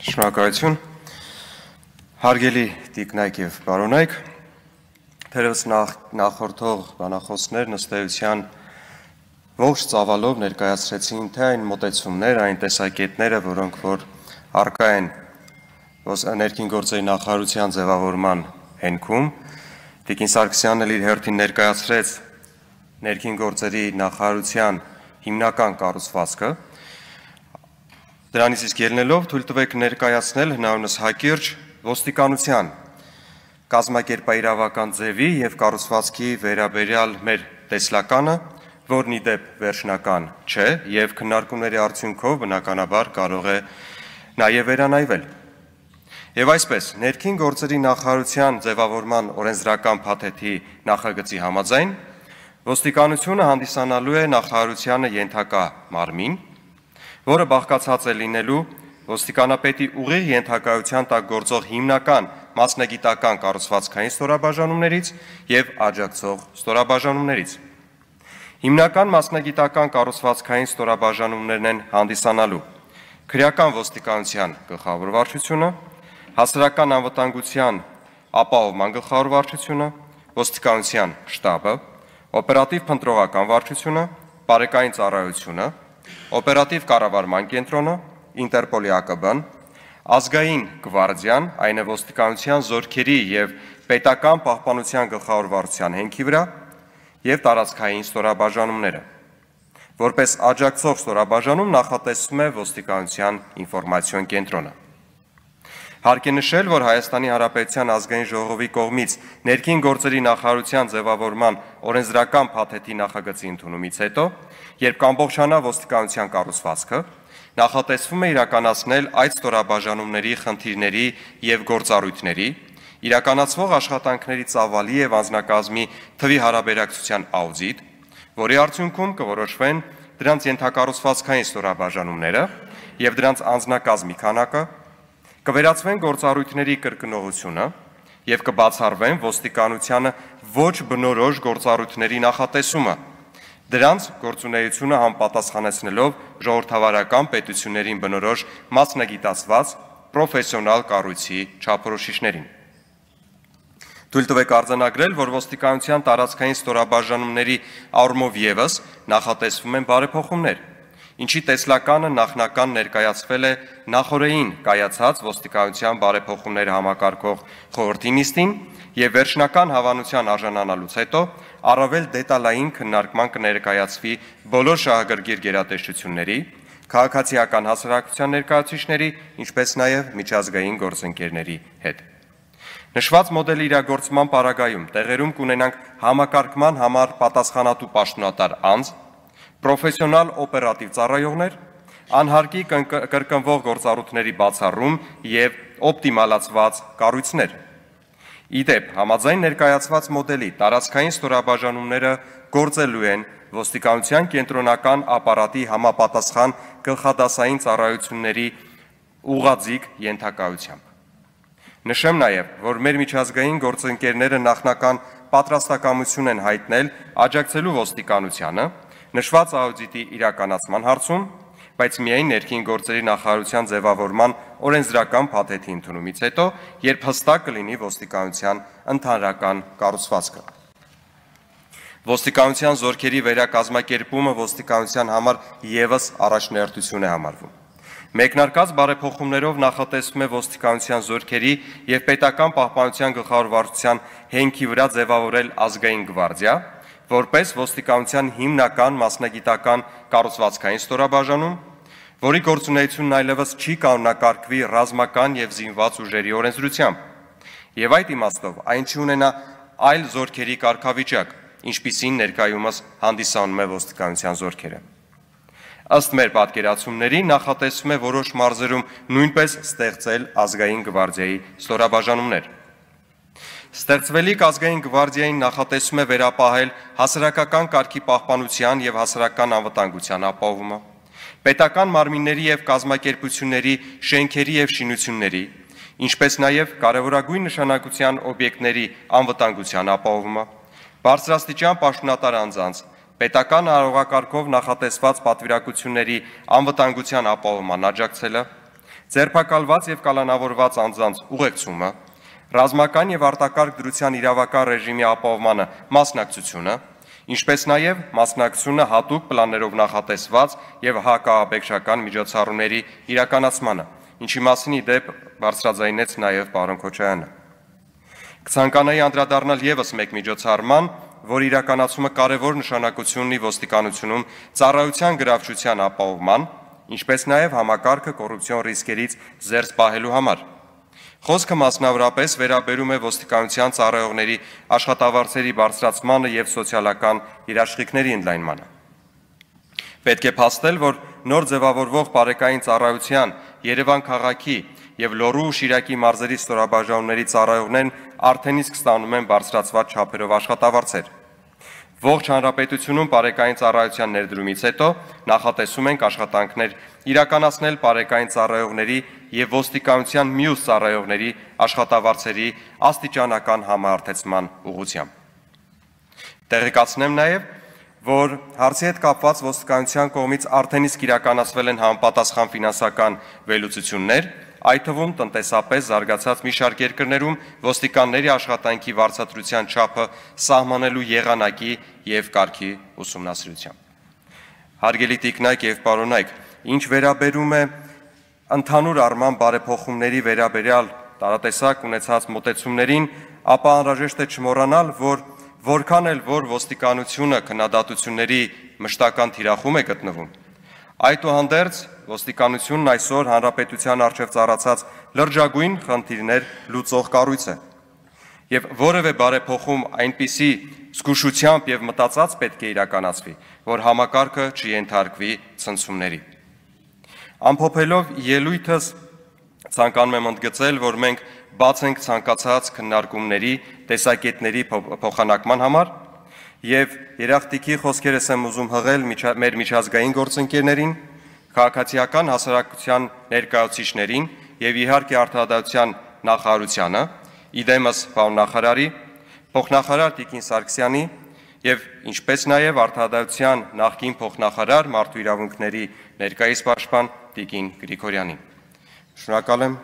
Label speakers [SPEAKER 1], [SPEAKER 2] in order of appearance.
[SPEAKER 1] Շնորհակալություն, հարգելի տիկնայք եւ բարոնայք, թերևս նախորդող բանախոսներ ըստ ողջ ծավալով ներկայացրեցին թե այն մոտեցումներ, այն տեսակետները, որոնք որ առկա են ներքին գործերի նախարարության ձևավորման հենքում, Տիկին Սարգսյանն էլ իր հերթին ներկայացրեց ներքին գործերի նախարարության հիմնական կառուցվածքը, դրանից իսկ ելնելով թույլ տվեք ներկայացնել հնարավորինս հակիրճ ոստիկանության կազմակերպաիրավական ձևի եւ կառուցվածքի վերաբերյալ մեր տեսլականը, որն ի դեպ վերջնական չէ եւ քննարկումների արդյունքով բնականաբար կարող է նաեւ վերանայվել։ Եվ այսպես, ներքին գործերի նախարարության ձևավորման օրենսդրական փաթեթի նախագծի համաձայն ոստիկանությունը հանդիսանալու է նախարարությանը ենթակա մարմին, որը բաղկացած է լինելու ոստիկանապետի ուղիղ ենթակայության տակ գործող հիմնական մասնագիտական կառուցվածքային ստորաբաժանումներից եւ աջակցող ստորաբաժանումներից։ Հիմնական մասնագիտական կառուցվածքային ստորաբաժանումներն են հանդիսանալու քրեական ոստիկանության գլխավոր վարչությունը, հասարակական անվտանգության ապահովման գլխավոր վարչությունը, ոստիկանության շտաբը, օպերատիվ փնտրողական վարչությունը, բարեկային ծառայությունը, օպերատիվ կառավարման կենտրոնը, Ինտերպոլի ԱԿԲ-ն, ազգային գվարդիան, այն է ոստիկանության զորքերի եւ պետական պահպանության գլխավոր վարչության հենքի վրա եւ տարածքային ստորաբաժանումները։ Որպես աջակցող ստորաբաժանում նախատեսվում է ոստիկանության ինֆորմացիոն կենտրոնը։ Հարկ է նշել, որ Հայաստանի Հանրապետության ազգային ժողովի կողմից ներքին գործերի նախարարության ձևավորման օրենսդրական փաթեթի նախագծի ընդունումից հետո, երբ կամբողջանա ոստիկանության կառուցվածքը, նախատեսվում է իրականացնել այդ ստորաբաժանումների խնդիրների եւ գործառույթների, իրականացվող աշխատանքների ծավալի եւ անձնակազմի թվի հարաբերակցության աուդիտ, որի արդյունքում կորոշվեն դրանց ենթակառուցվածքային ստորաբաժանումները եւ դրանց անձնակազմի քանակը, կվերացվեն գործառույթների կրկնողությունը եւ կբացառվեն ոստիկանությանը ոչ բնորոշ գործառույթների նախատեսումը, դրանց գործունեությունը համապատասխանեցնելով ժողովրդավարական պետություններին բնորոշ մասնագիտացված պրոֆեսիոնալ կառույցի չափորոշիչներին։ Թույլ տվեք արձանագրել, որ ոստիկանության տարածքային ստորաբաժանումների առումով եւս նախատեսվում են բարեփոխումներ, ինչի տեսլականը նախնական ներկայացվել է նախորդին կայացած ոստիկանության բարեփոխումները համակարգող խորհրդի նիստին եւ վերջնական հավանության արժանանալուց հետո առավել դետալային քննարկման կներկայացվի բոլոր շահագրգիռ գերատեսչությունների, քաղաքացիական հասարակության ներկայացուցիչների, ինչպես նաեւ միջազգային գործընկերների հետ։ Նշված մոդելի իրագործման պարագայում տեղերում կունենանք համակարգման համար պատասխանատու պաշտոնատար անձ, պրոֆեսիոնալ օպերատիվ ծառայողներ, անհարկի կրկնվող գործառույթների բացառում եւ օպտիմալացված կառույցներ։ Իդեպ, համաձայն ներկայացված մոդելի տարածքային ստորաբաժանումները գործելու են ոստիկանության կենտրոնական ապարատի համապատասխան գլխադասային ծառայությունների ուղղաձիգ ենթակայությամբ։ Նշեմ նաեւ, որ մեր միջազգային գործընկերները նախնական պատրաստակամություն են հայտնել աջակցելու ոստիկանությանը նշված աուդիտի իրականացման հարցում, բայց միայն ներքին գործերի նախարարության ձևավորման օրենսդրական փաթեթի ընդունումից հետո, երբ հստակ կլինի ոստիկանության ընդհանրական կառուցվածքը։ Ոստիկանության զորքերի վերակազմակերպումը ոստիկանության համար եւս առաջնահերթություն է համարվում։ Մեկնարկած բարեփոխումներով նախատեսվում է ոստիկանության զորքերի եւ պետական պահպանության գլխավոր վարչության հենքի վրա ձևավորել ազգային գվարդիա, որպես ոստիկանության հիմնական մասնագիտական կառուցվածքային ստորաբաժանում, որի գործունեությունն այլևս չի կանոնակարգվի ռազմական եւ զինված ուժերի օրենսդրությամբ, եւ այդ իմաստով այն չի ունենա այլ զորքերի կարգավիճակ, ինչպիսին ներկայումս հանդիսանում է ոստիկանության զորքերը։ Ըստ մեր պատկերացումների նախատեսվում է որոշ մարզերում նույնպես ստեղծել ազգային գվարդիայի ստորաբաժանումներ։ Ստեղծվելիք ազգային գվարդիային նախատեսվում է վերապահել հասարակական կարգի պահպանության եւ հասարակական անվտանգության ապահովումը, պետական մարմինների եւ կազմակերպությունների շենքերի եւ շինությունների, ինչպես նաեւ կարևորագույն նշանակության օբյեկտների անվտանգության ապահովումը, բարձրաստիճան պաշտոնատար անձանց, պետական արարողակարգով նախատեսված պատվիրակությունների անվտանգության ապահովման աջակցելը, ձերբակալված եւ կալանավորված անձանց ուղեկցումը, ռազմական եւ արտակարգ դրության իրավական ռեժիմի ապահովմանը մասնակցությունը, ինչպես նաեւ մասնակցությունը հատուկ պլաններով նախատեսված եւ հակաաբեկչական միջոցառումների իրականացմանը, ինչի մասին ի դեպ բարձրաձայնեց նաեւ պարոն Քոչարյանը։ Կցանկանայի անդրադառնալ եւս մեկ միջոցառման, որ իրականացումը կարևոր նշանակություն ունի ոստիկանությունում ծառայության գրավչության ապահովման, ինչպես նաեւ համակարգը կոռուպցիոն ռիսկերից զերծ պահելու համար։ Խոսքը մասնավորապես վերաբերում է ոստիկանության ծառայողների աշխատավարձերի բարձրացմանը եւ սոցիալական երաշխիքների ընդլայնմանը։ Պետք է փաստել, որ նոր ձևավորվող բարեկային ծառայության Երևան քաղաքի եւ Լոռու ու Շիրակի մարզերի ստորաբաժանումների ծառայողներն արդեն իսկ ստանում են բարձրացված չափերով աշխատավարձեր։ Ողջ հանրապետությունում բարեկային ծառայության ներդրումից հետո նախատեսում ենք աշխատանքներ իրականացնել բարեկային ծառայողների եւ ոստիկանության մյուս ծառայողների աշխատավարձերի աստիճանական համահարթեցման ուղղությամբ։ Տեղեկացնեմ նաեւ, որ հարցի հետ կապված ոստիկանության կողմից արդեն իսկ իրականացվել են համապատասխան ֆինանսական վերլուծություններ, այդ թվում տնտեսապես զարգացած մի շարք երկրներում ոստիկանների աշխատանքի վարձատրության չափը սահմանելու եղանակի եւ կարգի ուսումնասիրությամբ։ Հարգելի տիկնայք եւ պարոնայք, ինչ վերաբերում է ընդհանուր առմամբ բարեփոխումների վերաբերյալ տարատեսակ ունեցած մոտեցումներին, ապա անհրաժեշտ է չմոռանալ, որ որքան էլ որ ոստիկանությունը քննադատությունների մշտական թիրախում է գտնվում, այդուհանդերձ ոստիկանությունն այսօր հանրապետության առջև ծառացած լրջագույն խնդիրներ լուծող կառույց է եւ որևէ բարեփոխում այնպիսի զգուշությամբ եւ մտածած պետք է իրականացվի, որ համակարգը չենթարկվի ցնցումների։ Ամփոփելով ելույթս ցանկանում եմ ընդգծել, որ մենք բաց ենք ցանկացած քննարկումների, տեսակետների փոխանակման համար եւ երախտիկի խոսքերս եմ ուզում հղել մեր միջազգային գործընկերներին, քաղաքացիական հասարակության ներկայացուցիչներին եւ իհարկե արտադրության նախարարությանը, իդեմս պարոն նախարարի, փոխնախարար Տիկին Սարգսյանի եւ ինչպես նաեւ արտադրության նախկին փոխնախարար մարդու իրավունքների ներկայիս պաշտպան Տիկին Գրիգորյանին։ Շնորհակալ եմ։